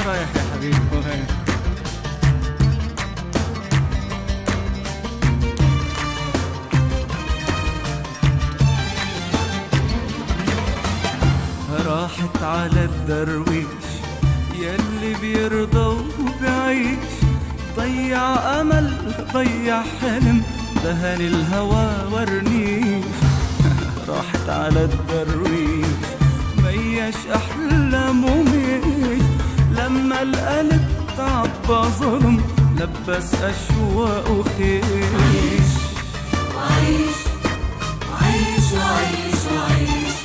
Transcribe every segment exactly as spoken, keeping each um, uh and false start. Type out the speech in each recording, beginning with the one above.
رايح يا حبيبي؟ وين؟ راحت على الدرويش يلي بيرضى وبيعيش، ضيع أمل ضيع حلم دهن الهوى ورنيش. راحت على الدرويش ميش أحلامه ميش، لما القلب تعبى ظلم لبس أشواقه خيش. وعيش وعيش وعيش وعيش،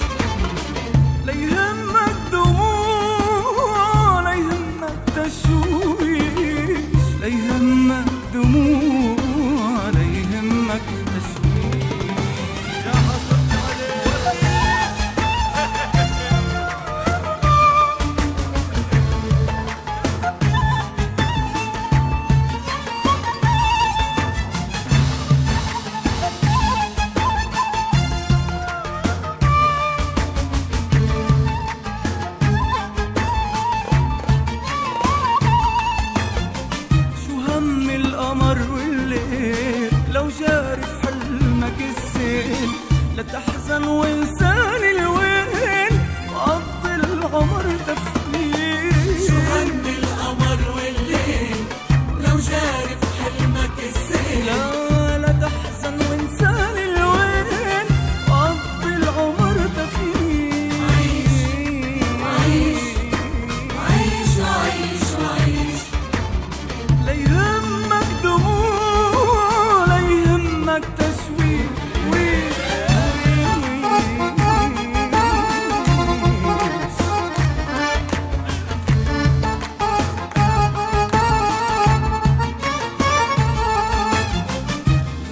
لا يهمك دموع لا يهمك تشويش، لا يهمك دموع لا يهمك تشويش. يا حصلت عليك لا تحزن وانسان الوين وقضي العمر تفليل. شو هم القمر والليل لو جاري في حلمك السيل. لا لا تحزن وانسان الوين وقضي العمر تفليل. عيش وعيش وعيش وعيش وعيش، لا يهمك دموع لا يهمك تشويش.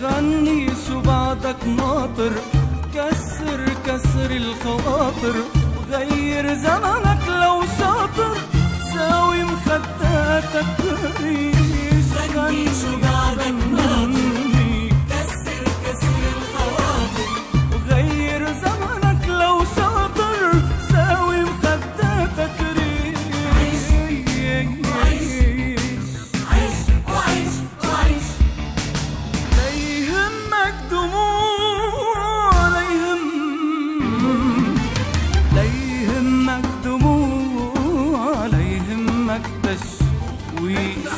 غني شو بعدك ناطر، كسر كسر الخواطر، وغير زمنك لو شاطر، ساوي مخداتك ريش. غني شو بعدك ناطر، كسر كسر الخواطر، وغير زمنك لو شاطر، ساوي مخداتك ريش. عيش عيش وعيش وعيش، لا يهمك دموع لا يهم لا يهمك دموع لا يهمك تشويش. ويش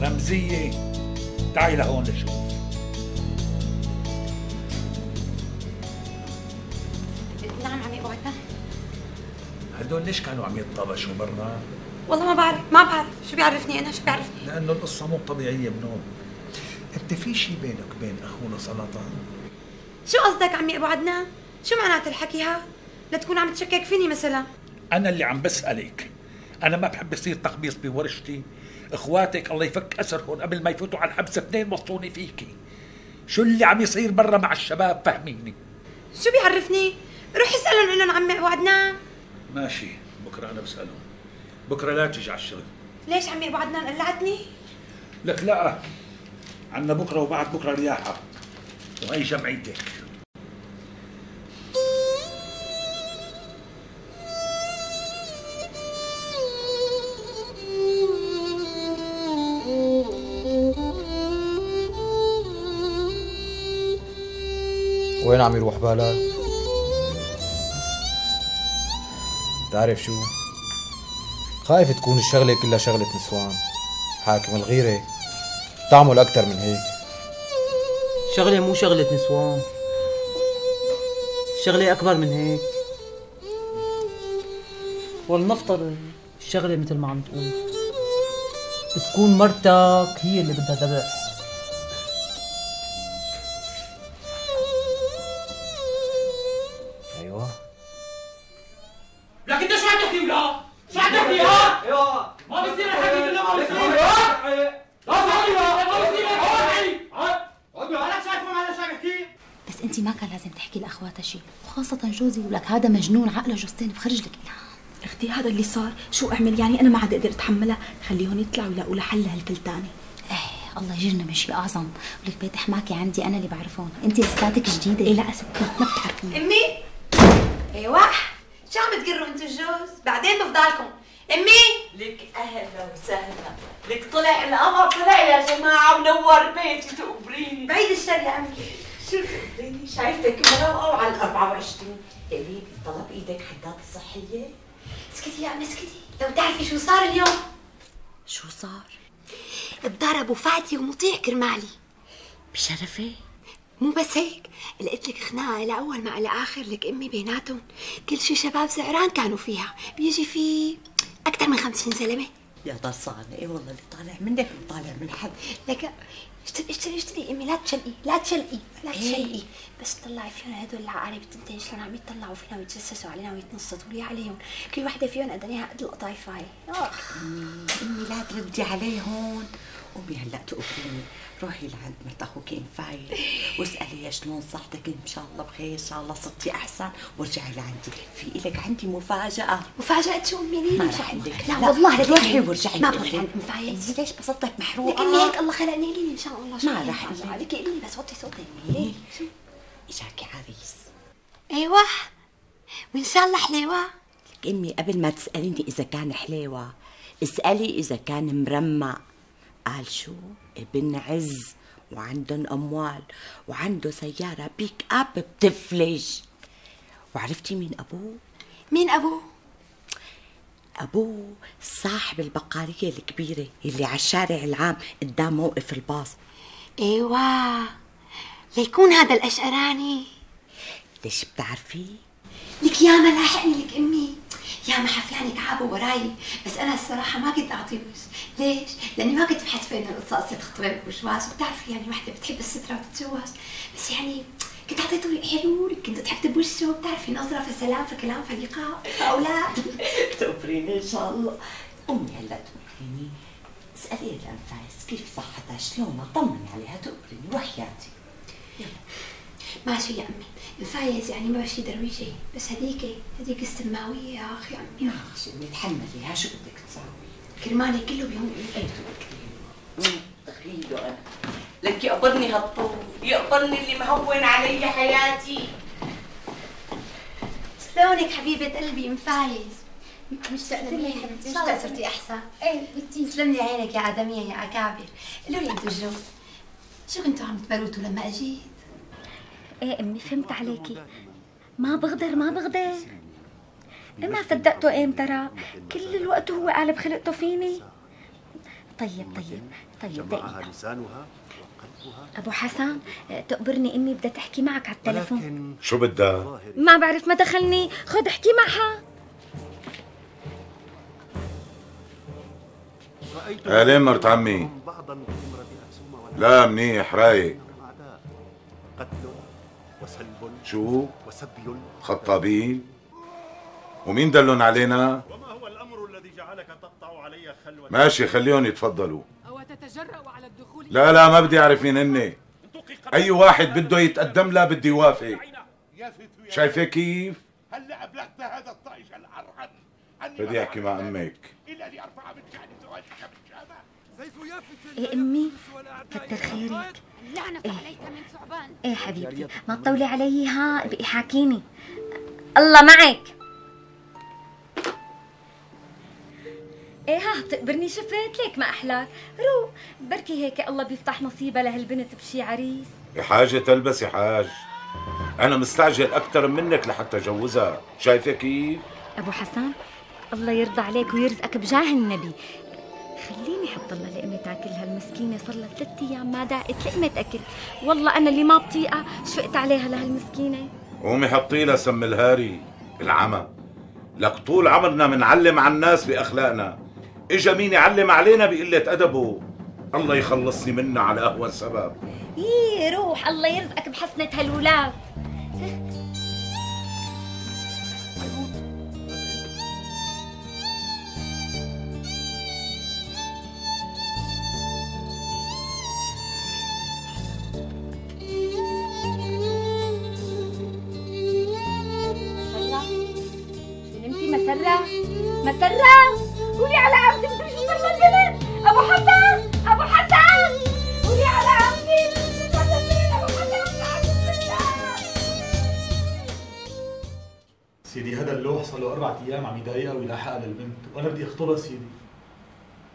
رمزية، تعي لهون لشوف. نعم عمي وعدنا. هدول ليش كانوا عم يتطابشوا برا؟ والله ما بعرف، ما بعرف، شو بيعرفني أنا، شو بيعرفني؟ لأنه القصة مو طبيعية منهم. أنت في شي بينك وبين أخونا سلطان؟ شو قصدك عمي أبو عدنان؟ شو معنات الحكي هاد؟ لا تكون عم تشكك فيني مثلا. أنا اللي عم بسألك، أنا ما بحب يصير تخبيص بورشتي. إخواتك الله يفك أسرهم قبل ما يفوتوا على الحبس اثنين وصوني فيكي. شو اللي عم يصير برا مع الشباب فهميني؟ شو بيعرفني؟ روح اسألهم إنهم عمي أبو عدنان. ماشي، بكرة أنا بسألهم. بكرة لا تيجي على الشغل. ليش عمي أبو عدنان قلعتني؟ لك لا، عنا بكرة وبعد بكرة رياحة وهي جمعيتك. وين عم يروح بالك؟ بتعرف شو؟ خايف تكون الشغلة كلها شغلة نسوان. حاكم الغيرة تعمل أكتر من هيك. شغلة مو شغلة نسوان، شغلة أكبر من هيك. ولنفترض الشغلة مثل ما عم تقول بتكون مرتك هي اللي بدها ذبح. أيوة. لك انت شو عم تحكي ولا؟ شو عم تحكي ها؟ ايوه ما بصير الحكي كله ما بصير. لا تحكي ما بصير. اقعد انا شايفه ما انا شو عم يحكي. بس انت ما كان لازم تحكي لاخواتها شيء، وخاصة جوزي ولك هذا مجنون عقله جوزتين بخرج لك الهام. اختي هذا اللي صار، شو اعمل يعني؟ انا ما عاد اقدر اتحملها، خليهم يطلعوا يلاقوا لها حل لهالكلتانه. ايه الله يجرنا من شيء اعظم، ولك بيت حماكي عندي انا اللي بعرفهم، انت لساتك جديده. ايه لا ستي ما بتعرفيني. امي ايوه شو عم تقروا انتو الجوز؟ بعدين بفضلكم. امي لك اهلا وسهلا، لك طلع القمر طلع يا جماعه ونور بيتي تقبريني. بعيد الشر يا امي. شو تقبريني؟ شايفتك مروقه وعلى الأربعة وعشرين. قولي طلب ايدك حدات الصحيه. اسكتي يا امي اسكتي، لو تعرفي شو صار اليوم. شو صار؟ اتضربوا فاتي ومطيع كرمالي. بشرفي؟ مو بس هيك، لقيت لك خناقه لاول مع لاخر لك امي بيناتهم، كل شي شباب زعران كانوا فيها، بيجي في اكثر من خمسين زلمه. يا ضرصانه ايه والله اللي طالع منك وطالع من حد. لك اشتري اشتري اشتري امي، لا تشلقي لا تشلقي لا تشلقي. بس طلعي فيهم هدول العقارب التنتين شلون عم يطلعوا فينا ويتجسسوا علينا ويتنصتوا لي عليهم، كل وحده فيهم قدنيها قد القطايفاي. اخ امي لا تردي عليهم. قومي هلا تقبريني، روحي لعند مرت اخوك انفايل واسالي شلون صحتك، ان شاء الله بخير، ان شاء الله صرتي احسن، وارجعي لعندي. في لك عندي مفاجاه. مفاجاه شو امي؟ ليه ما رح اقول لك. لا والله لا روحي وارجعي. ما بروح عند مفايز. ليش بصدك محروقه؟ لك امي هيك الله خلقني لي ان شاء الله. ما رح اقول لك قولي لي بس وطي صوتك. ليه؟ شو؟ اجاكي عريس. ايوه وان شاء الله حليوه. لك امي قبل ما تساليني اذا كان حليوه اسالي اذا كان مرمى. قال شو؟ ابن عز وعندهم اموال وعنده سياره بيك اب بتفلج. وعرفتي مين ابوه؟ مين ابوه؟ ابوه صاحب البقاليه الكبيره اللي على الشارع العام قدام موقف الباص. ايوه ليكون هذا الاشقراني. ليش بتعرفي؟ لك يا ما لاحقني لك امي، يا ما حفلاني تعبوا وراي، بس انا الصراحه ما كنت اعطي وش. ليش؟ لاني ما كنت بحسب انه القصه قصه خطبه وجواز، وبتعرفي يعني وحده بتحب الستره وتتجوز، بس يعني كنت اعطيته لي حلو، كنت ضحكت بوشه، بتعرفي نظره فسلام فكلام فلقاء فاولاد. تقبريني ان شاء الله. امي هلا تقبريني، اسالي الانفاس كيف صحتها، شلونها، طمني عليها، تقبريني وحياتي. ماشي يا امي، الفايز يعني ما بشي درويشي، بس هذيك هذيك السماويه يا اخي امي. ماشي امي تحمليها، شو بدك تساوي؟ كرمالي كله بيوم امي. تخيلوا انا لك يقبرني هالطول، يقبرني اللي مهون علي حياتي. شلونك حبيبه قلبي ام فايز؟ مشتقت لي حبيبتي، مشتقت صرتي احسن. ايه بنتي تسلم لي عينك يا ادميه يا اكابر. قولوا لي انتوا الجو شو كنتوا عم تبروتوا لما اجيت؟ ايه امي فهمت عليكي، ما بغدر ما بغدر. ما صدقته ايه ترى، كل الوقت هو قالب خلقته فيني. طيب طيب طيب دقيقة. ابو حسن تقبرني امي بدها تحكي معك على التليفون. شو بدها؟ ما بعرف ما دخلني، خد احكي معها. اهلين مرت عمي. لا منيح رايق. شو؟ خطابين؟ ومين دلن علينا؟ وما هو الأمر الذي جعلك تقطع علي خلوة؟ ماشي خليهم يتفضلوا. أو تتجرأ على الدخول؟ لا لا ما بدي أعرف مين هن. أي واحد بده يتقدم لا بدي يوافق. شايفة كيف؟ هلا أبلغت هذا الطائش الأرحم بدي أحكي مع أمك. إلا لأرفع من شأن زواجك بالشامة. ايه امي كتر خيرك. لعنة عليك من ثعبان. ايه حبيبتي ما تطولي علي، ها بقي حاكيني. الله معك. ايه ها بتقبرني، شفت لك ما احلاك. روق بركي هيك الله بيفتح نصيبها لهالبنت بشي عريس. يا حاجة تلبس يا حاج. انا مستعجل اكثر منك لحتى جوزها، شايفه كيف؟ ابو حسن الله يرضى عليك ويرزقك بجاه النبي، خليني حط لها لقمة تاكلها، المسكينة صار لها ثلاث ايام ما داقت لقمة اكل، والله انا اللي ما بطيقها شفقت عليها لهالمسكينة. قومي حطي لها سم الهاري العمى، لك طول عمرنا منعلم على الناس باخلاقنا، اجا مين يعلم علينا بقلة ادبه، الله يخلصني منها على اهون سبب. يي روح الله يرزقك بحسنة هالولاد. مسرة مسرة قولي على عمتي بدي شو صار للبنت. ابو حسن ابو حسن قولي على عمتي بدي شو صار للبنت. ابو حسن سيدي هذا اللوح صار له اربع ايام عم يضايقها ويلاحقها للبنت، وانا بدي اخطبها سيدي.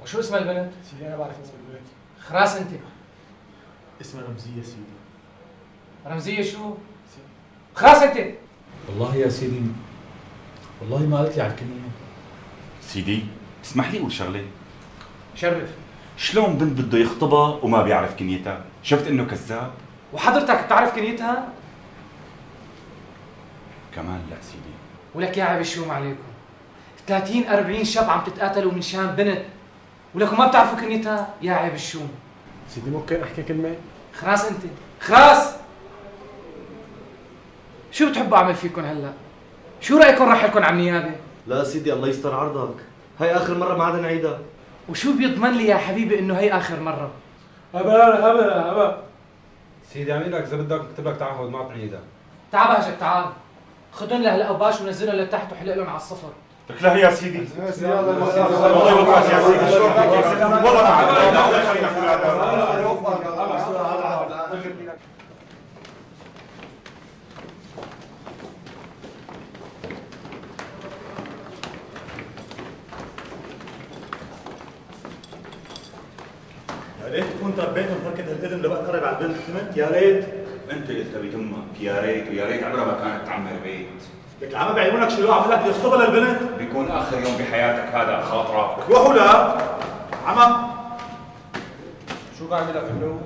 وشو اسم البنت؟ سيدي انا بعرف اسم البنت. خلاص انت اسمها رمزية سيدي. رمزية شو؟ خلاص انت. والله يا سيدي والله ما قالت لي على الكنية. سيدي اسمح لي اقول شغله. شرف. شلون بنت بده يخطبها وما بيعرف كنيتها؟ شفت انه كذاب؟ وحضرتك بتعرف كنيتها؟ كمان لا سيدي. ولك يا عيب شو عليكم؟ ثلاثين أربعين شاب عم تتقاتلوا من شان بنت ولكم ما بتعرفوا كنيتها؟ يا عيب الشوم. سيدي ممكن احكي كلمة؟ خلاص انت خلاص. شو بتحبوا اعمل فيكم هلا؟ شو رايكم راح لكم على النيابه؟ لا سيدي الله يستر عرضك، هي اخر مره ما عاد نعيدها. وشو بيضمن لي يا حبيبي انه هي اخر مره؟ ابا ابا ابا سيدي عمي لك اذا بدك اكتب لك تعهد ما تعيدها. تعال بهجك تعال خذهم لهلا وباش ونزلهم لتحت وحلق لهم على الصفر. لك لا يا سيدي. الله يوفقك يا سيدي. يا ريت تكون تربيتهم تركت هالاذن لبقى قرب على البنت، فهمت؟ يا ريت. انت قلت بتمك يا ريت ويا ريت عمرها ما كانت تعمر بيت. لك العمى بعيونك شو عم لك بدي يخطبها للبنت؟ بيكون اخر يوم بحياتك هذا خاطرك. روحوا لا عمى. شو قاعد عم لك اللوح؟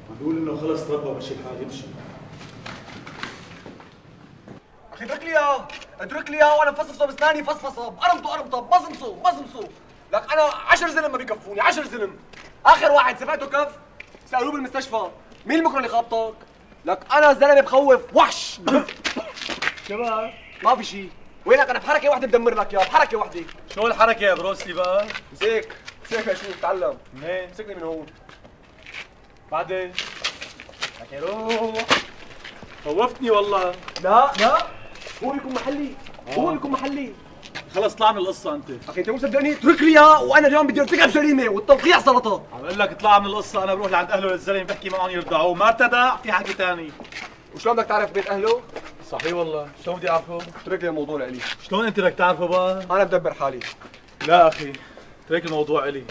عم بيقول انه خلص تربى ومشي الحال يمشي. اخي اترك لي اياه، اترك لي اياه وانا مفصفصه باسناني فصفصه، بقرمطه قرمطه، بمصمصه بمصمصه، لك انا عشر زلم ما بيكفوني، عشر زلم. اخر واحد سمعته كف سالوه بالمستشفى، مين المكره اللي خابطك؟ لك انا زلمه بخوف وحش. شباب ما في شيء، وينك انا بحركه واحده بدمر لك اياه، بحركه واحده. شو الحركه يا بروسلي بقى؟ مسك مسك اشوف تعلم. منين؟ مسكني من هون. بعدين؟ لك روح. خوفتني والله. لا لا هو يكون محلي، هو يكون محلي. خلص طلع من القصة أنت. أخي أنت مو مصدقني؟ اترك لي إياه وأنا اليوم بدي أرتكب جريمة والتوقيع سلطة. عم بقول لك اطلع من القصة، أنا بروح لعند أهله للزلمة بحكي معهم يرضعوه، ما ارتدع في حكي ثاني. وشلون بدك تعرف بيت أهله؟ صحيح والله، شلون بدي أعرفه؟ اترك لي الموضوع لإلي. شلون أنت بدك تعرفه بقى؟ أنا بدبر حالي. لا أخي، اترك الموضوع إلي.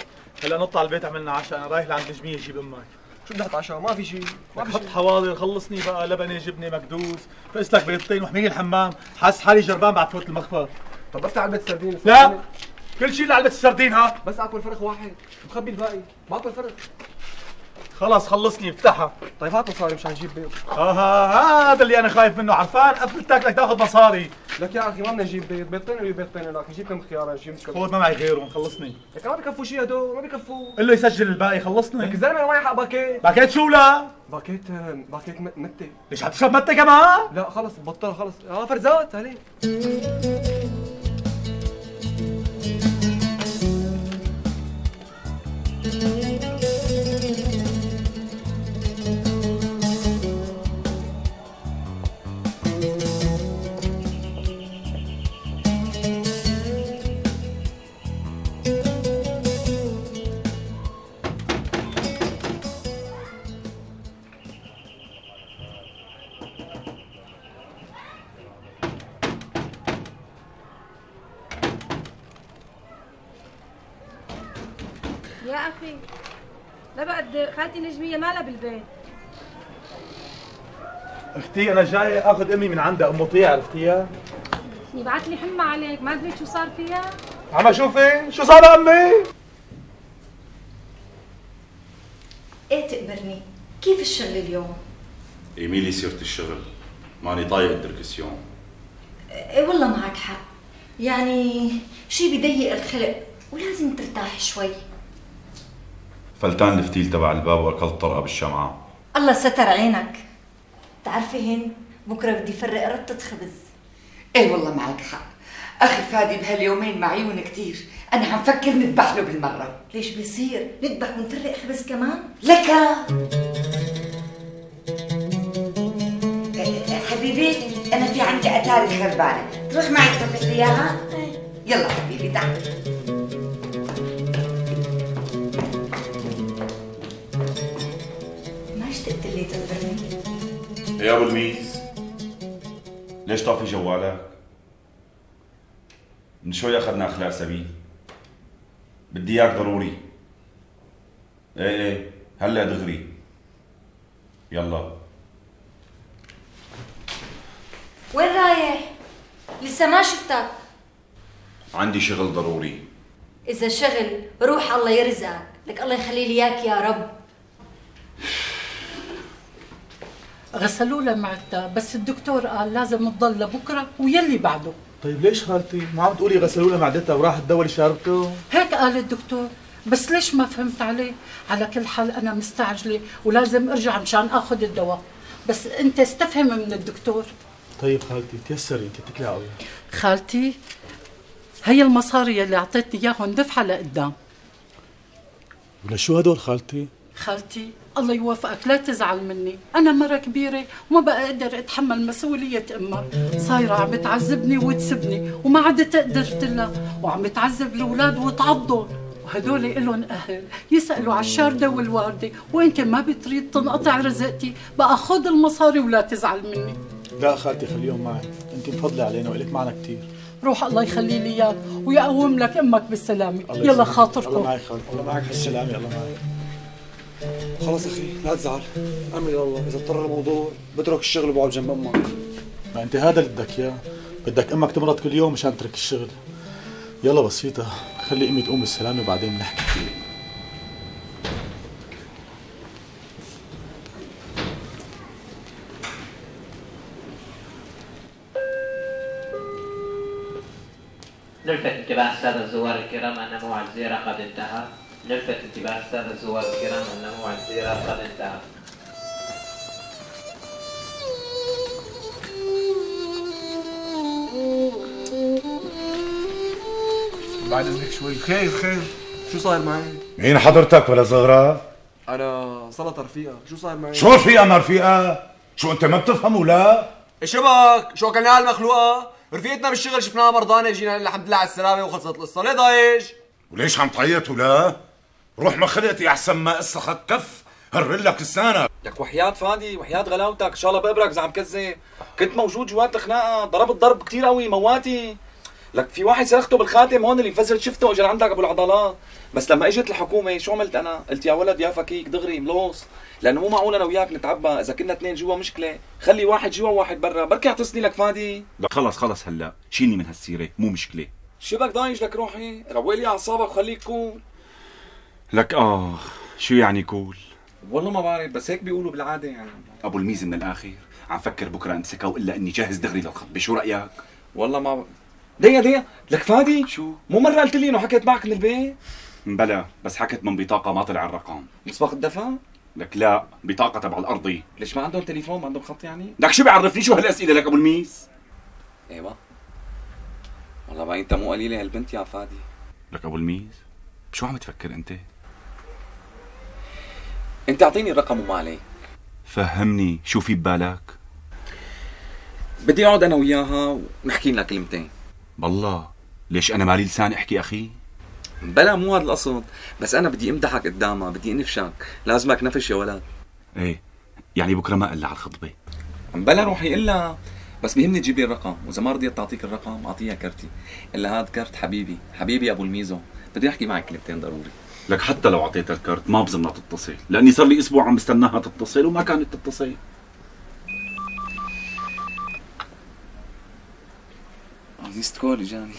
هلا نطلع البيت عملنا عشاء، أنا رايح لعند نجمية أجيب أمك. شو بدي أحط عشاء؟ ما في شيء، ما في حط شيء. حواضر، خلصني بقى لبنة جبنة مكدوس، فقس لك بيضتين واحميني الحمام، حاسس حالي جربان بعد فوت المخفر. طب بفتح علبة السردين. لا كل شيء لعلبة السردين ها. بس اكل فرخ واحد، مخبي الباقي، باكل فرخ. خلص خلصني افتحها. طيب هات مصاري مشان نجيب بيض. اه هذا اللي انا خايف منه، عرفان قفلتك بدك تاخذ مصاري. لك يا اخي ما بدنا نجيب بيض، بيضتين ولا بيضتين لك، نجيب كم خيار نجيب كم. خذ ما معي غيرهم خلصني. لك ما بكفوا شيء هدول، ما بكفوا. قل له يسجل الباقي خلصني. لك الزلمه انا معي حق باكيت. باكيت شو لا؟ باكيت باكيت متة. ليش عم تشرب متة كمان؟ لا خلص بطل خلص، اه فرزات عليه. يا أخي لا بعد خالتي نجمية مالها بالبيت. اختي انا جاي اخذ امي من عندها ام مطيع، عرفتيها؟ يبعت لي حمى عليك، ما ادري شو صار فيها؟ عم اشوفي شو صار لامي؟ ايه تقبرني، كيف الشغل اليوم؟ ايميلي سيرة الشغل، ماني طايق الدركسيون. ايه والله معك حق، يعني شي بضيق الخلق ولازم ترتاح شوي. فلتان الفتيل تبع الباب واكلت طرقه بالشمعه. الله ستر عينك. بتعرفي هند بكره بدي فرق ربطة خبز. ايه والله معك حق، اخي فادي بهاليومين معيون كتير، انا عم فكر نذبح له بالمره. ليش بيصير؟ نذبح ونفرق خبز كمان؟ لك حبيبي انا في عندي اتاري خربانه، تروح معي تفتح لي اياها؟ يلا حبيبي تعال. ما اشتقت لي تخبرني؟ يا ابو الميز ليش طافي جوالك؟ من شوي اخذنا اخلاء سبيل، بدي اياك ضروري. ايه ايه هلا دغري، يلا. وين رايح؟ لسه ما شفتك. عندي شغل ضروري. إذا شغل روح الله يرزقك، لك الله يخلي لي إياك يا رب. غسلوا لها معدتها، بس الدكتور قال لازم تضل لبكره ويلي بعده. طيب ليش خالتي؟ ما عم تقولي غسلوا لها معدتها وراحت تدور شاربته؟ هيك قال الدكتور، بس ليش ما فهمت عليه؟ على كل حال أنا مستعجلة ولازم أرجع مشان آخذ الدواء، بس أنت استفهم من الدكتور. طيب خالتي تيسري تتكلي على خالتي هي المصاري اللي أعطيتني إياهم دفعة لقدام. ولشو هدول خالتي؟ خالتي الله يوفقك لا تزعل مني، أنا مرة كبيرة وما بقى أقدر أتحمل مسؤولية أمك، صايرة عم تعذبني وتسبني وما عدت قدرت لها، وعم تعذب الأولاد وتعضهم، وهدول إلهم أهل يسألوا على الشاردة والواردة، وأنت ما بتريد تنقطع رزقتي، بقى خذ المصاري ولا تزعل مني. لا خالتي خليهم معي، أنت مفضلة علينا وإلك معنا كثير. روح الله يخلي لي إياك ويقوم لك أمك بالسلامة، يلا خاطركم. الله معك خالتي، الله معك بالسلامة، الله معك. خلص اخي لا تزعل، امري لله، اذا اضطر الموضوع بترك الشغل وبقعد جنب امك. ما انت هذا اللي بدك اياه، بدك امك تمرض كل يوم مشان تترك الشغل. يلا بسيطة، خلي امي تقوم بالسلامة وبعدين بنحكي. نلفت انتباه السادة الزوار الكرام أن موعد الزيارة قد انتهى. نلفت انتباه السادة الزوار الكرام أن موعد الزيارة قد انتهى. بعد اذنك شوي. خير خير، شو صاير معي؟ مين حضرتك ولا زغرة؟ أنا سلطة رفيقة، شو صاير معي؟ شو رفيقة ما رفيقة؟ شو أنت ما بتفهم ولا؟ شبك شو اكلناها المخلوقة؟ رفيقتنا بالشغل شفناها مرضانة، جينا الحمد لله على السلامة وخلصت القصة، ليه ضايج؟ وليش عم تعيط ولا؟ روح ما خلقتي أحسن ما اسخك كف، هرلك لسانك. لك وحياة فادي وحياة غلاوتك، إن شاء الله بقبرك إذا عم كذب، كنت موجود جوات الخناقة، ضربت ضرب كثير قوي مواتي. لك في واحد سرقته بالخاتم هون اللي انفجرت شفته اجى لعندك ابو العضلات، بس لما اجت الحكومه شو عملت انا؟ قلت يا ولد يا فكيك دغري ملوص، لانه مو معقول انا وياك نتعبى، اذا كنا اثنين جوا مشكله، خلي واحد جوا وواحد برا، بركي اعتصني لك فادي. لا خلص خلص هلا، شيلني من هالسيره، مو مشكله. شبك ضايج لك روحي؟ روق لي اعصابك وخليك كول. لك اه شو يعني كول؟ والله ما بعرف، بس هيك بيقولوا بالعاده يعني. ابو الميز من الاخر، عم فكر بكره امسكها والا اني جاهز دغري للخطبه، شو رايك؟ والله ما ب... ديا ديا لك فادي شو؟ مو مرة قلت لي انه حكيت معك من البيت؟ بلا بس حكت من بطاقة ما طلع الرقم. مسبق الدفع؟ لك لا، بطاقة تبع الأرضي. ليش ما عندهم تليفون؟ ما عندهم خط يعني؟ لك شو بيعرفني شو هالأسئلة لك أبو الميس؟ ايوه والله باين انت مو قليلة هالبنت يا فادي. لك أبو الميس بشو عم تفكر أنت؟ أنت أعطيني الرقم وما عليك. فهمني شو في ببالك؟ بدي أقعد أنا وياها ونحكي لنا كلمتين. بالله ليش أنا مالي لسان أحكي أخي؟ بلا مو هذا القصد، بس أنا بدي أمدحك قدامها، بدي أنفشك، لازمك نفش يا ولد. إيه يعني بكرة ما قلها على الخطبة؟ بلا روحي إلا بس بيهمني تجيب لي الرقم، وإذا ما رضيت تعطيك الرقم أعطيها كرتي، إلا هاد كرت حبيبي، حبيبي أبو الميزو، بدي أحكي معك كلمتين ضروري. لك حتى لو أعطيتها الكرت ما بظنها تتصل، لأني صار لي أسبوع عم بستناها تتصل وما كانت تتصل. ميست كول اجاني.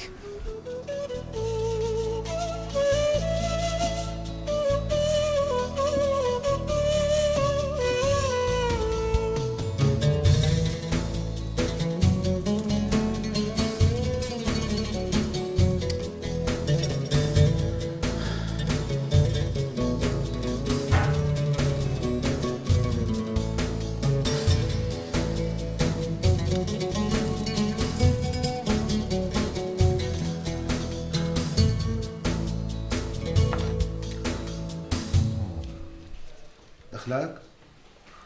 دخلك؟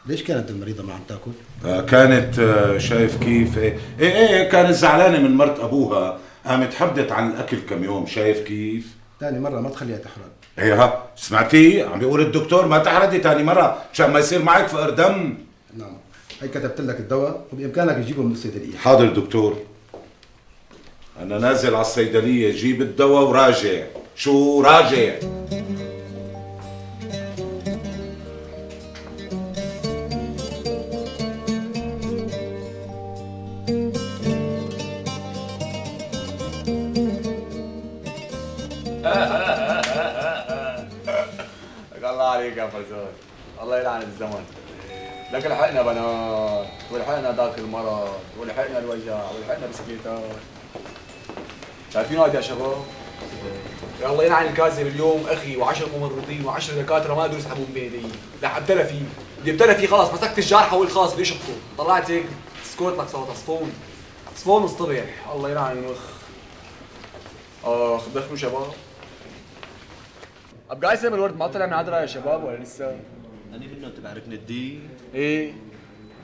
ليش كانت المريضة ما عم تاكل؟ آه كانت آه شايف كيف ايه ايه, إيه كانت زعلانة من مرت ابوها، قامت حبدت عن الاكل كم يوم. شايف كيف؟ ثاني مرة ما تخليها تحرق. ايه ها سمعتي؟ عم بيقول الدكتور ما تحردي ثاني مرة مشان ما يصير معك فقر دم. نعم، هي كتبت لك الدواء وبامكانك تجيبه من الصيدلية. حاضر دكتور. انا نازل على الصيدلية جيب الدواء وراجع. شو راجع؟ الله عليك يا فزار، الله يلعن الزمن. لك لحقنا بنات، ولحقنا ذاك المرض، ولحقنا الوجع، ولحقنا بسكيتات. شايفين هاد يا شباب؟ يا الله يلعن الكاذب اليوم اخي وعشر ممرضين وعشر دكاتره ما قدروا يسحبون بايدي، لا ابتلى فيه، بدي ابتلى فيه خلاص، مسكت الجارحه والخاص بدي شقه، طلعت هيك سكوت لك صوت عصفون، عصفون اصطبح، الله يلعن المخ. اخ دخلوا شباب. ابقى قاسم الورد ما طلع من عدرا يا شباب ولا لسه؟ أنا منه تبع ركن الدين. ايه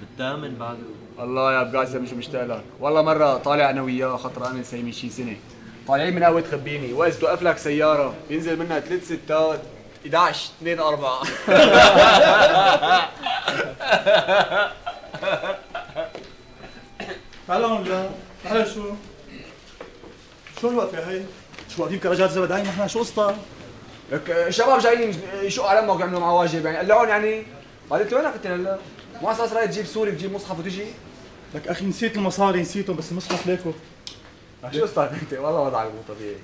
بالثامن بعده. الله يا ابو قاسم شو مشتاق لك، والله مرة طالع أنا وياه خطر أنا سايمين شي سنة، طالعين من قهوة خبيني، وقت توقف لك سيارة بينزل منها ثلاث ستات احد عشر اثنين أربعة. تعال هون لا، تعال شو؟ شو الوقفة هي؟ شو واقفين كرجات زبداين نحن شو قصتها؟ لك الشباب جايين يشقوا على امك ويعملوا معه واجب يعني قلعون يعني، بعدين انت وينك انت هلا؟ مو اساس رايح تجيب سوري تجيب مصحف وتجي؟ لك اخي نسيت المصاري نسيتهم بس المصحف ليكو. شو قصتك انت؟ والله وضعك مو طبيعي.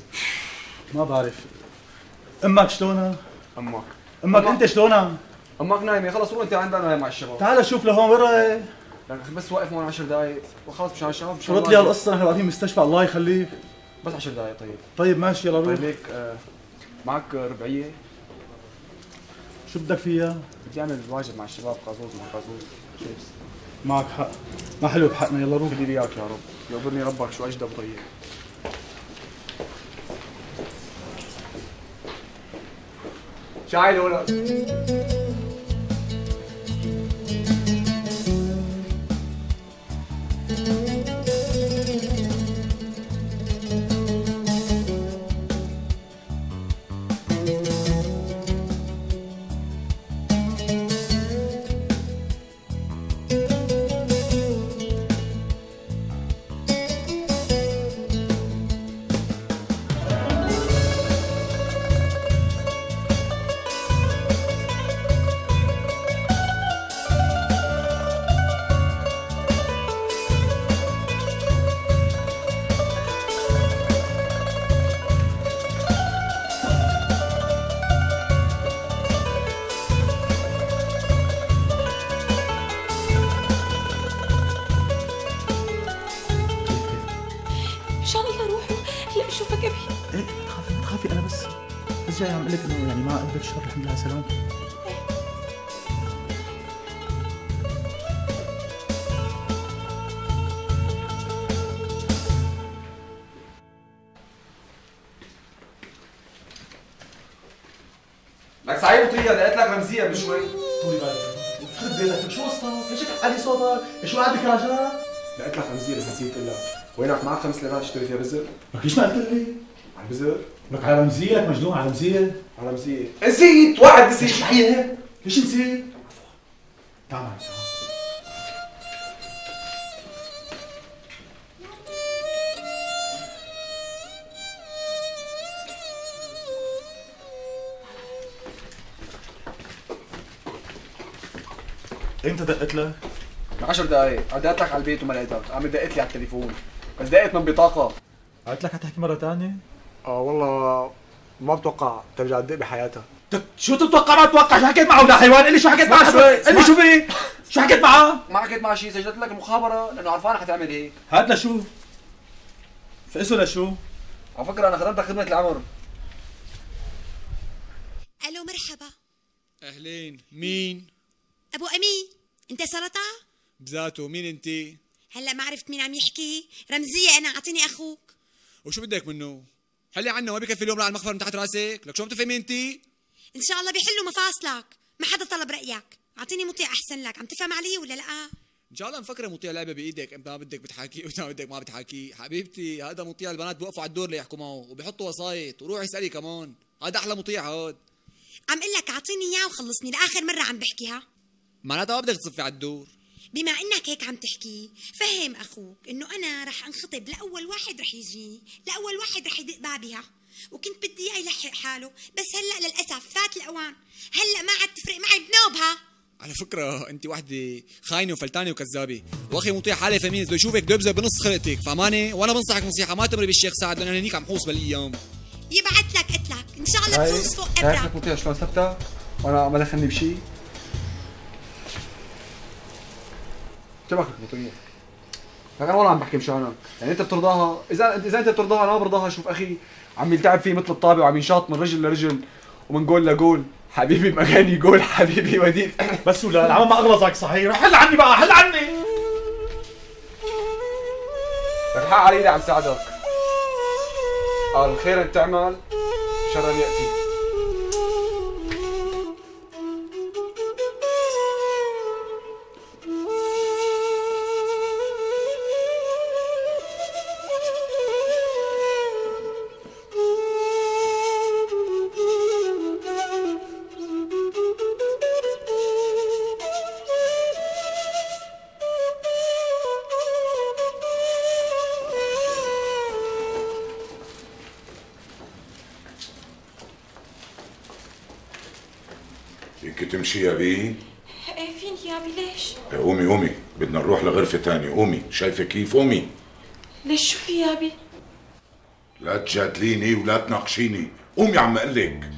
ما بعرف. امك شلونها؟ امك امك انت شلونها؟ امك نايمه خلص روح انت عندنا نايم مع الشباب. تعال شوف لهون وين رايح؟ لك بس واقف هون عشر دقائق وخلص مشان الشباب. شرط لي هالقصه نحن واقفين مستشفى الله يخليك. بس عشر دقائق طيب. طيب ماشي يلا روح. طيب هيك آه معك ربعيه؟ شو بدك فيها؟ بدي اعمل واجب مع الشباب قازوز مع قازوز. شيبس. معك حق، ما حلو بحقنا يلا روح. بدي اياك يا رب، يقبرني ربك شو اجدب طيب. شايل ولا جاي عم اقول لك انه يعني ما قلبك شر الحمد لله على سلامتك. لك سعيد وطريقة لقيت لك رمزية من شوي. طولي بالك يخرب بيتك شو قصتك؟ ليش هيك علي صوتك؟ شو قاعد بكراجات؟ لقيت لك رمزية بس نسيت اقول لك، وينك معك خمس ليرات تشتري فيها بزر؟ لك ليش ما قلت لي؟ على البزر؟ لك على رمزية، لك مجنون على رمزية؟ على رمزية، نسيت واحد نسيت. شو هي؟ ليش نسيت؟ تعال معي تعال. امتى دقت لك؟ من عشر دقايق، عديت لك على البيت وما لقيتك، قامت دقت لي على التليفون، بس دقت من بطاقة. قلت لك حتحكي مرة ثانية؟ اه والله ما بتوقع ترجع تدق بحياتها. شو تتوقع ما تتوقع؟ شو حكيت معه ولا حيوان؟ قل لي شو حكيت معه شوي؟ قل لي شو في؟ شو حكيت معه؟ ما حكيت معه شيء، سجلت لك المخابرة لأنه عرفانة حتعمل هيك. هاد لشو؟ فقسه لشو؟ على فكرة أنا خدمتك خدمة العمر. ألو مرحبا. أهلين، مين؟ أبو أمين، أنت سلطة؟ بذاته، مين أنت؟ هلا ما عرفت مين عم يحكي؟ رمزية أنا، أعطيني أخوك. وشو بدك منه؟ حلي عنا، ما بكفي اليوم على المخفر من تحت راسك؟ لك شو عم تفهمي أنت؟ إن شاء الله بيحلوا مفاصلك، ما حدا طلب رأيك، أعطيني مطيع أحسن لك، عم تفهم علي ولا لأ؟ إن شاء الله مفكرة مطيع لعبة بإيدك، أنت ما بدك بتحاكي وأنت ما بدك ما بتحاكي، حبيبتي هذا مطيع البنات بوقفوا على الدور ليحكوا معه وبيحطوا وسايط، وروحي اسألي كمان، هذا أحلى مطيع هاد. عم قل لك أعطيني إياه وخلصني، لآخر مرة عم بحكيها. معناتها ما بدك تصفي على الدور. بما انك هيك عم تحكي، فهم اخوك انه انا رح انخطب لاول واحد رح يجيني، لاول واحد رح يدق بابها، وكنت بدي اياه يلحق حاله، بس هلا للاسف فات الاوان، هلا ما عاد تفرق معي بنوبها. على فكرة أنت وحدة خاينة وفلتانة وكذابة، وأخي مطيع حالة فمين بده يشوفك بده يبذل بنص خلقتك، فهمانة؟ وأنا بنصحك نصيحة ما تمري بالشيخ سعد لأن هنيك عم حوص بالأيام. يبعت لك قلت لك، إن شاء الله تفوز فوق إبرة. شايف لك مطيع شلون ثبتها؟ وأنا ما دخلني بشيء. شبكك مطيع. لك انا والله عم بحكي مشانك، يعني انت بترضاها، اذا اذا انت بترضاها انا ما برضاها. شوف اخي عم يلتعب فيه مثل الطابع وعم ينشاط من رجل لرجل ومن جول لجول. حبيبي مكاني جول، حبيبي وديد. بس ولا العمى ما اغلظك صحيح؟ حل عني بقى، حل عني. لك حق علي عم ساعدك. قال خيرا تعمل شرا ياتي. فيك تمشي يا بي؟ ايه فيني يا ابي. ليش؟ قومي قومي، بدنا نروح لغرفة تانية. قومي، شايفة كيف؟ قومي. ليش شو في يا ابي؟ لا تجادليني ولا تناقشيني، قومي عم اقلك.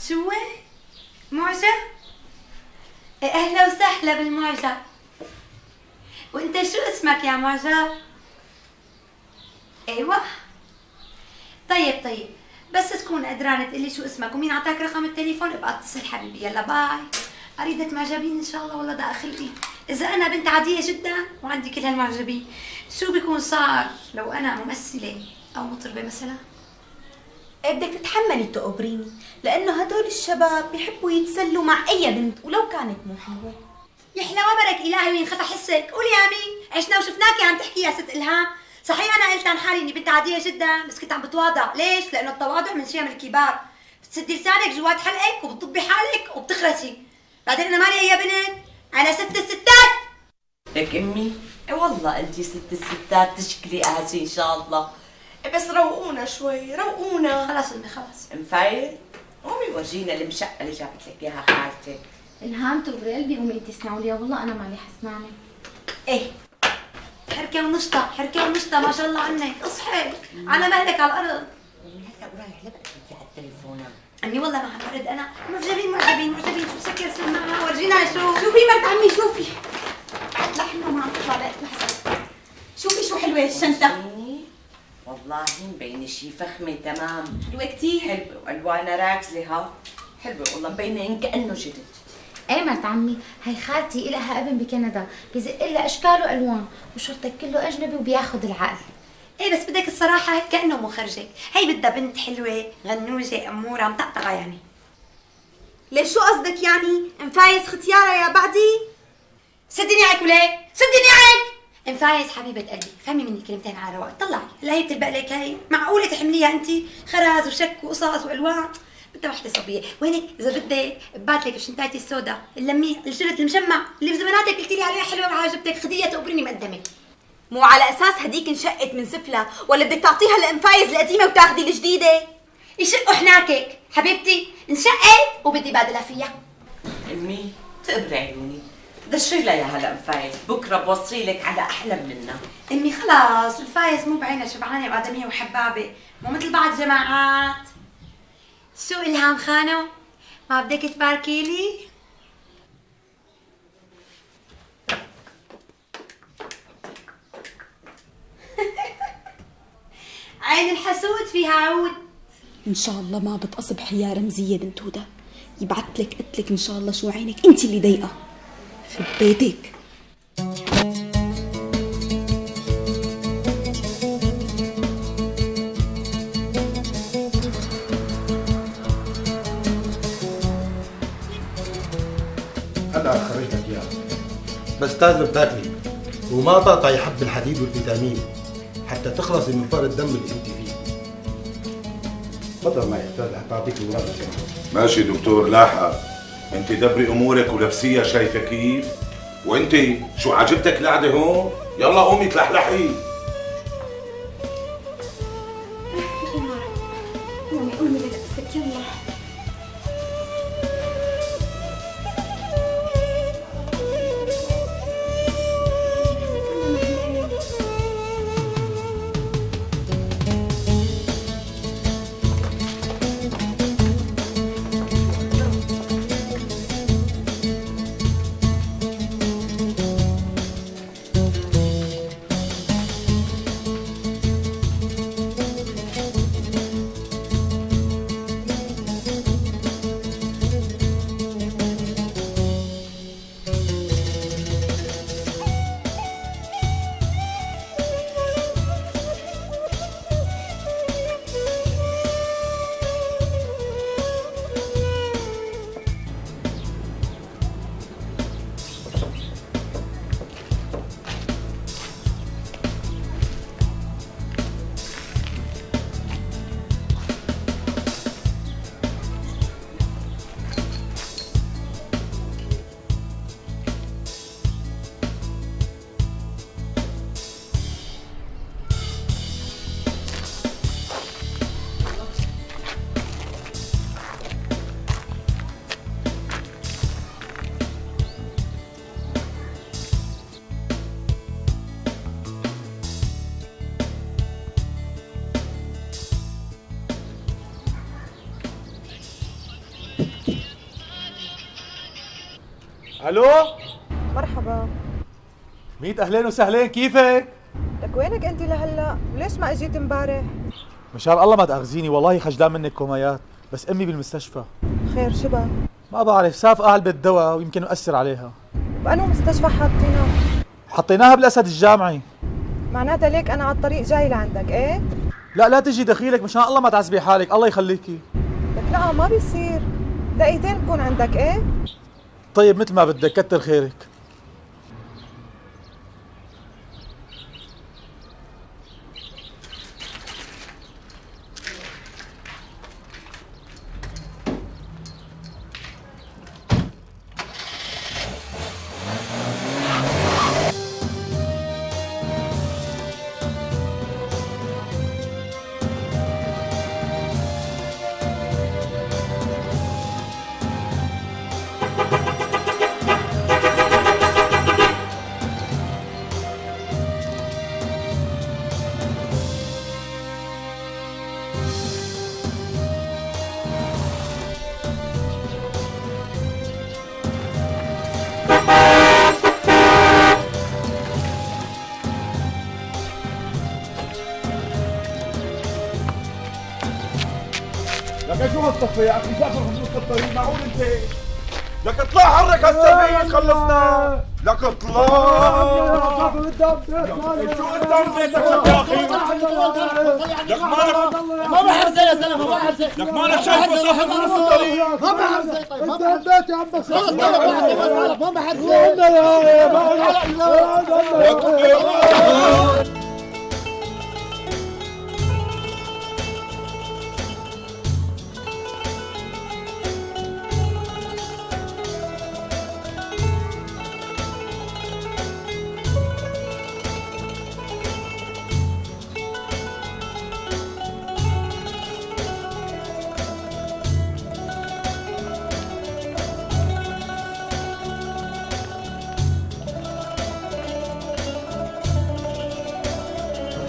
شو معجب؟ اهلا وسهلا بالمعجب. وانت شو اسمك يا معجب؟ ايوه طيب طيب، بس تكون قدران تقلي شو اسمك ومين عطاك رقم التليفون ابقى اتصل حبيبي. يلا باي. اريدك معجبين ان شاء الله. والله ده اخلقي، اذا انا بنت عاديه جدا وعندي كل هالمعجبين شو بيكون صار لو انا ممثله او مطربه مثلا؟ بدك تتحملي تقبريني، لانه هدول الشباب بيحبوا يتسلوا مع اي بنت ولو كانت مو حلوه. يحلى وبرك الهي وينخفى حسك. قولي يا مين، عشنا وشفناكي عم تحكي يا ست الهام. صحيح انا قلت عن حالي اني بنت عاديه جدا، بس كنت عم بتواضع. ليش؟ لانه التواضع من شيم الكبار. بتسدي لسانك جوات حلقك وبتطبي حالك وبتخرسي. بعدين انا مالي يا بنت، انا ست الستات. لك امي والله انتي ست الستات تشكلي قاسي ان شاء الله. بس روقونا شوي، روقونا. خلاص امي خلاص. مفايل قومي ورجينا المشقه اللي جابت لك اياها خالتك. الهام تغري قلبي، قومي انتي اسمعوا لي، والله انا مالي حسنانه. ايه حركه ونشطه، حركه ونشطه ما شاء الله عنك. اصحي على مهلك على الارض. هلا ورايح لبقى على التليفون. امي والله ما عم برد انا. معجبين معجبين معجبين. شو سكر سمعها ورجينا. شو شوفي مرت عمي، شوفي لحمه ما عم تطلع بقت لحظه. شوفي شو حلوه الشنطه. والله مبينه شي فخمه تمام. حلوه كثير. حلوه والوانها راكزه ها. حلوه والله مبينه ان كانه جديد. ايه مرت عمي، هي خالتي إلها ابن بكندا بيزق لها اشكال والوان وشرطك كله اجنبي وبياخذ العقل. ايه بس بدك الصراحه هيك كانه مخرجك. هي بدها بنت حلوه غنوجه اموره مطقطقه يعني. ليش شو قصدك يعني؟ مفايز ختياره يا بعدي؟ سدي نيعك وليه؟ سدي نيعك. ام فايز حبيبه قلبي، فهمي مني كلمتين على رواق، طلعي هلا هي بتلبق لك هي، معقوله تحمليها انت خرز وشك وقصص والوان؟ بدها وحده صبيه، وينك اذا بدك ببعت لك بشنطايتي السوداء اللميه الجلد المشمع اللي بزماناتك قلتي لي عليها حلوه وعجبتك، خديها تقبرني مقدمه. مو على اساس هديك انشقت من سفلة ولا بدك تعطيها لام فايز القديمه وتاخذي الجديده؟ يشقوا حناكك حبيبتي، انشقت وبدي بادلها فيها. امي تقبري عيوني، دشري لها يا هلا ام فايز، بكره بوصي لك على احلى منها. امي خلاص الفايز مو بعينها شبعانه وادميه وحبابه، مو مثل بعض الجماعات. شو الهام خانو؟ ما بدك تباركي لي؟ عين الحسود فيها عود. ان شاء الله ما بتصبح يا رمزيه بنت هدى، يبعث لك قلت لك ان شاء الله شو عينك انت اللي ضيقه في بيتك. هلا خرجتك اياها، بس لازم تاكلي وما تقطعي حب الحديد والفيتامين حتى تخلصي من فقر الدم اللي انت فيه. تفضل معي استاذ حتى اعطيك الاوراق كمان. ماشي دكتور لاحقة، انت دبري امورك ولبسيها شايفه كيف؟ وانت شو عجبتك القعده هون؟ يلا قومي تلحلحي. قومي قومي لنفسك يلا. الو مرحبا. ميت اهلين وسهلين، كيفك؟ لك وينك انت لهلا؟ وليش ما اجيت امبارح؟ مشان الله ما تاخذيني، والله خجلان منك كوميات، بس امي بالمستشفى. خير شبه؟ ما بعرف، سافقة علبة دواء ويمكن مأثر عليها. بأنو مستشفى حاطينها؟ حطيناها بالاسد الجامعي. معناتها ليك انا على الطريق جاي لعندك، ايه؟ لا لا تجي دخيلك، مشان الله ما تعذبي حالك، الله يخليكي. لك لا ما بيصير، دقيقتين بكون عندك، ايه؟ طيب مثل ما بدك، كتر خيرك. لك شو هالصفة يا اخي؟ جابر بنص الطريق، معقول انت؟ لك اطلع حرك هالسربية خلصنا. لك اطلع شو قدام بيتك يا اخي؟ لك مالك ما بحرزق يا زلمه ما بحرزق لك مالك شايف صاحب نص الطريق ما بحرزق طيب ما بحرزق يا عم بس ما بحرزق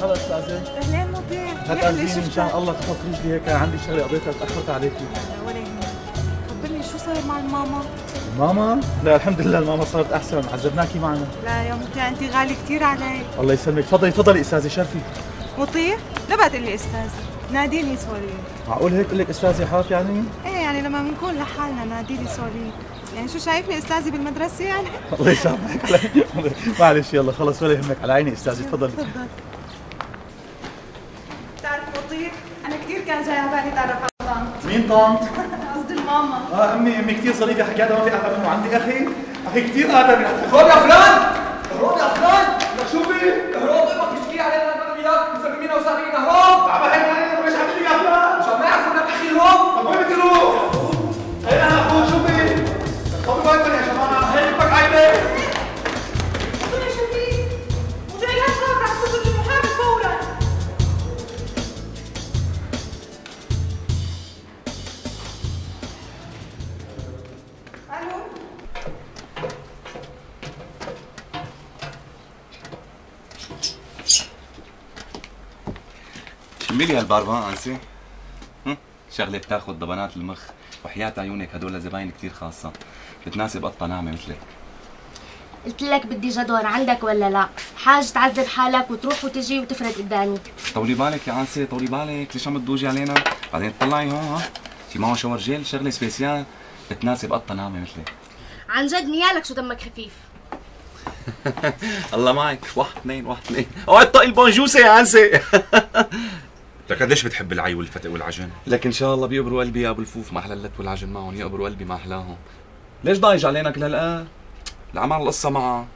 خلص استاذه اهلين مطيع هتأذيني مشان الله تحط رجلي هيك عندي شغله قضيتها تاخرت عليكي. لا ولا يهمك. خبرني شو صاير مع الماما؟ ماما؟ لا الحمد لله الماما صارت احسن، عجبناكي معنا. لا يا مطيع انت غالي كثير علي. الله يسلمك، تفضلي تفضلي استاذه شرفي. مطيع؟ لا بقى تقول لي استاذه، ناديني سوليد. معقول هيك اقول لك استاذه حاف يعني؟ ايه يعني لما بنكون لحالنا ناديني سوليد، يعني شو شايفني استاذه بالمدرسه يعني؟ الله يسامحك معلش يلا خلص ولا يهمك، على عيني استاذه تفضلي. تفضل. بتعرف مطيع؟ انا كثير كان جاي على بالي اتعرف على طنط. مين طنط؟ قصدي الماما. اه امي امي كثير ظريفه حكيتها ما في احلى منه، عندي اخي اخي كثير ادمي. اهرب يا فلان اهرب يا فلان لك شو بي؟ اهرب امك تشكي علينا انا وياك مسمينا وسارقين اهرب عم بحكي علينا وليش عم يا فلان؟ مشان ما يعرفوا انك اخي اهرب طب وين بدي اروح؟ هي انا اخوك شو بي؟ طب ما يا جماعه هي بدك عيبه. مطيع شو في؟ مطيع لا تخاف رح تصل المحامي فورا. الو شمي لي هالباربان انسي. شغله بتاخذ ضبنات المخ، وحياة عيونك هدول زباين كثير خاصه، بتناسب قطه ناعمه مثلك. قلت لك بدي جدول عندك ولا لا؟ حاج تعذب حالك وتروح وتجي وتفرد قدامي. طولي بالك يا انسي طولي بالك، ليش عم تضوجي علينا؟ بعدين تطلعي هون ها، في معه شاور جيل شغله سبيسيال بتناسب قطه ناعمه مثلك. عن جد نيالك شو دمك خفيف. الله معك، واحد اثنين واحد اثنين، اوعي تطقي البونجوسه يا انسي. لك قديش بتحب العي والفتق والعجن؟ لك ان شاء الله بيقبروا قلبي يا ابو الفوف، ما احلى اللت والعجن معهم، يقبروا قلبي ما احلاهم. ليش ضايج علينا كل هالقد؟ العمل القصه معها،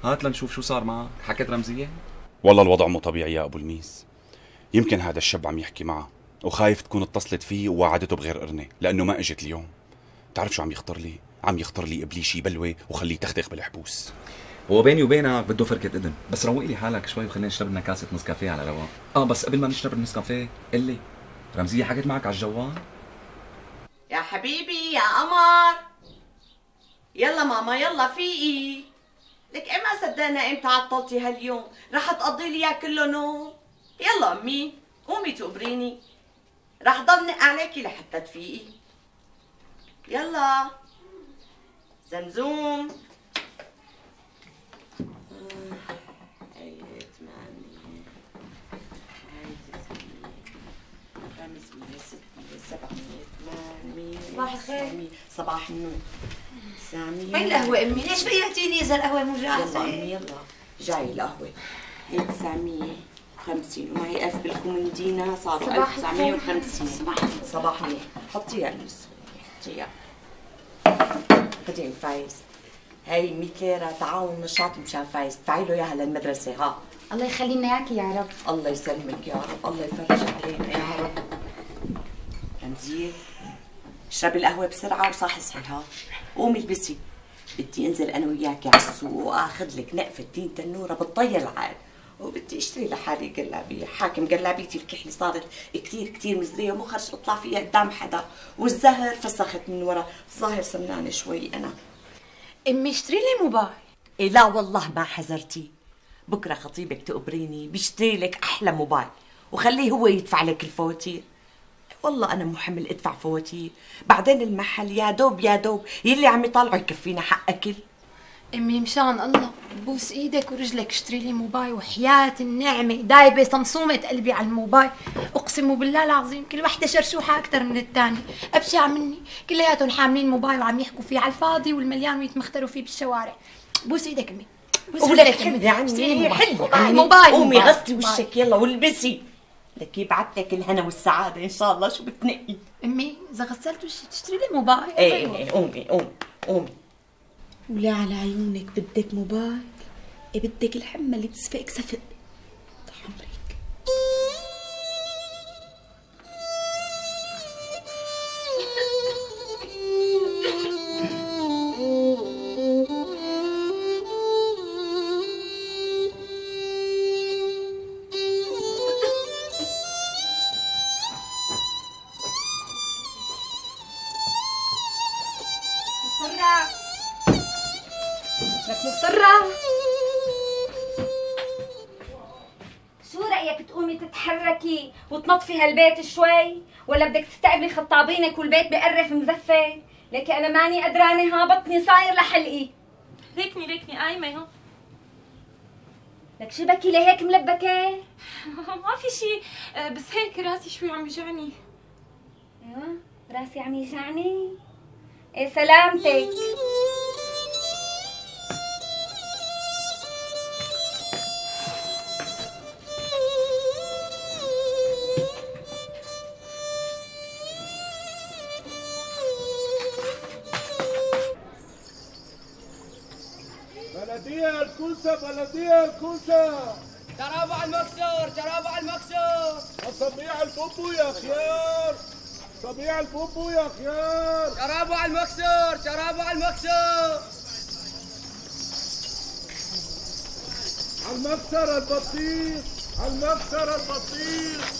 هات لنشوف شو صار معها، حكت رمزيه؟ والله الوضع مو طبيعي يا ابو الميس، يمكن هذا الشاب عم يحكي معها وخايف تكون اتصلت فيه ووعدته بغير قرنه لانه ما اجت اليوم. بتعرف شو عم يخطر لي؟ عم يخطر لي ابليشي بلوه وخليه يتختخ بالحبوس. هو بيني وبينك بده فركة اذن، بس روق لي حالك شوي وخلينا نشرب لنا كاسة نسكافيه على رواق. اه بس قبل ما نشرب النسكافيه قل لي، رمزية حكت معك على الجوال؟ يا حبيبي يا قمر، يلا ماما يلا فيقي. لك ايه ما صدقنا امتى عطلتي هاليوم، رح تقضي لي اياه كله نوم. يلا امي قومي تقبريني، رح ضل نق عليكي لحتى تفيقي. يلا زمزوم. صباح الخير. صباح النور. سامية وين القهوة أمي؟ ليش فيقتيني إذا القهوة مو جاهزة؟ يلا أمي يلا جاي القهوة. هي تسعمية وخمسين ومعي ألف بالكومندينا صاروا ألف وتسعمية وخمسين. صباح صباح النور. حطيها بالنص حطيها. خدي الفايز. هاي مية ليرة تعاون نشاط مشان فايز، ادفعي له اياها للمدرسة ها. الله يخلي لنا اياكي يا رب. الله يسلمك يا رب، الله يفرج علينا يا رب. رمزية اشربي القهوة بسرعة وصاحي صحيها، قومي البسي، بدي انزل انا وياكي على السوق واخذ لك نقفة تين تنورة بالطي العال، وبدي اشتري لحالي قلابية، حاكم قلابيتي الكحلي صارت كثير كثير مزرية ومو خرج اطلع فيها قدام حدا، والزهر فسخت من ورا، الظاهر سمنانة شوي انا. امي اشتري لي موبايل. إيه لا والله ما حذرتي، بكره خطيبك تقبريني بيشتري لك احلى موبايل وخليه هو يدفع لك الفواتير. والله انا مو حمل ادفع فواتير، بعدين المحل يا دوب يا دوب يلي عم يطالعوا يكفينا حق اكل. امي مشان الله بوس ايدك ورجلك اشتري لي موبايل، وحياة النعمة دايبة صمصومة قلبي على الموبايل، اقسم بالله العظيم كل وحدة شرشوحة اكثر من الثانية، ابشع مني، كلياتهم حاملين موبايل وعم يحكوا فيه على الفاضي والمليان ويتمختروا فيه بالشوارع. بوس ايدك امي. ولك حلي عني حلي عني. موبايل قومي غسلي وشك يلا والبسي لك يبعث لك الهنا والسعادة إن شاء الله. شو بتنقي؟ امي إذا غسلت وشي تشتري لي موبايل. ايه ايه قومي قومي قومي. ولا على عيونك بدك موبايل؟ إيه بدك الحمى اللي تسفق سفق عمرك. لك مضطرة. شو رأيك تقومي تتحركي وتنظفي هالبيت شوي؟ ولا بدك تستقبلي خطابينك والبيت بقرف مزفة؟ لكي أنا ماني قدرانة، ها بطني صاير لحلقي. ليكني ليكني قايمة اهو. لك شبكي لهيك ملبكة؟ ما في شي، بس هيك راسي شوي عم يوجعني. ايوه راسي عم يوجعني؟ ايه سلامتك. بلدية الكوسة بلدية الكوسة. شراب على المكسور شراب على المكسور. وصبيع البوبو يا خيار. صبيع البوبو يا خيار. شراب على المكسور شراب على المكسور. على المكسر البطيخ على المكسر البطيخ.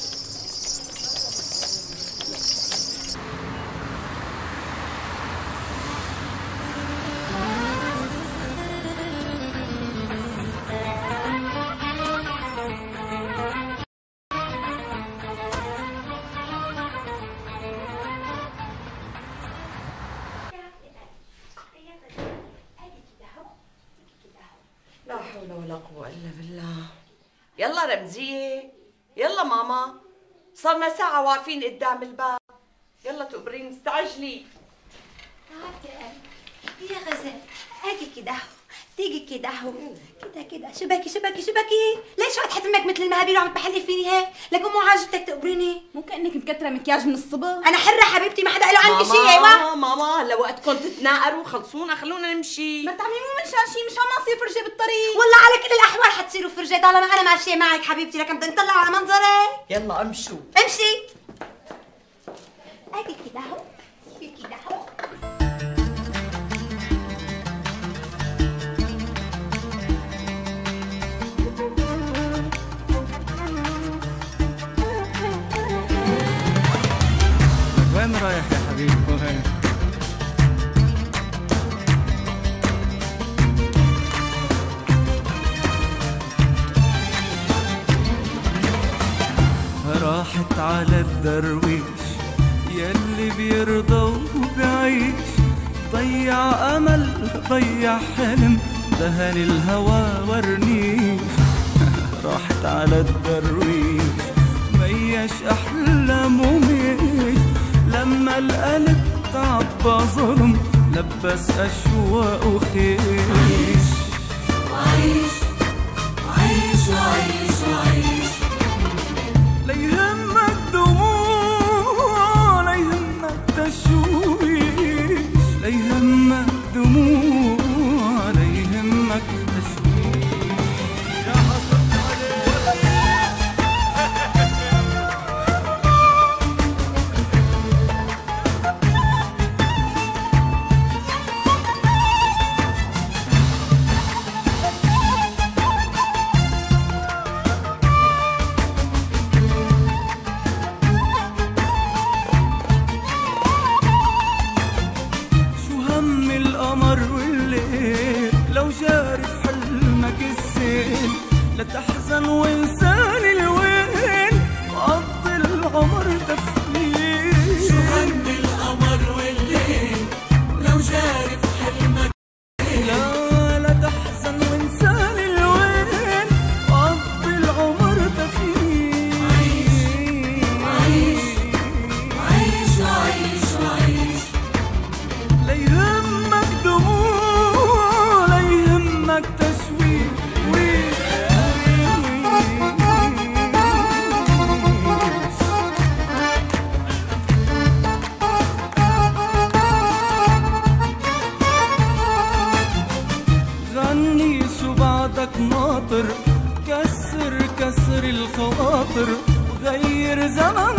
لا حول ولا قوة إلا بالله. يلا رمزية يلا ماما، صرنا ساعة واقفين قدام الباب. يلا تقبرين استعجلي. يا غزال اجي كده اهو، تيجي كده اهو، كده كده شبكي شبكي شبكي. ليش قاعد حتمك مثل المهابيل وعم تحلي فيني هيك؟ لك مو عاجبتك تقبريني؟ مو كأنك مكترة مكياج من الصبح. انا حرة حبيبتي، ما حدا قال له عنك شيء. ماما ايوه ماما هلا وقتكم تتناقروا خلصونا خلونا نمشي. ما تعملي مو من شان شيء، مشان ما اصير فرجة بالطريق. والله على كل الاحوال حتصيروا فرجة طالما انا ماشية معك حبيبتي. لك بدنا نطلع على منظري. يلا امشوا امشي. اجي كده اهو كده اهو. وين رايح يا حبيبي وين؟ راحت على الدرويش يلي بيرضى وبيعيش، ضيع امل ضيع حلم دهن الهوى ورنيش. راحت على الدرويش ميش احلام وميش، لما القلب تعبى ظلم لبس اشواق وخيش. وعيش وعيش وعيش وعيش ليهمك دموع ليهمك تشويش، ليهمك دموع ليهمك تشويش. يا حصلت لا تحزن وانساني الوين وقضي العمر تفليل. شو هم القمر والليل لو جاري في حلمك. لا لا تحزن وانساني الوين وقضي العمر تفليل. عيش عيش عيش عيش لا يهمك دموع لا يهمك غني شو بعدك ناطر، كسر كسر الخواطر وغير زمن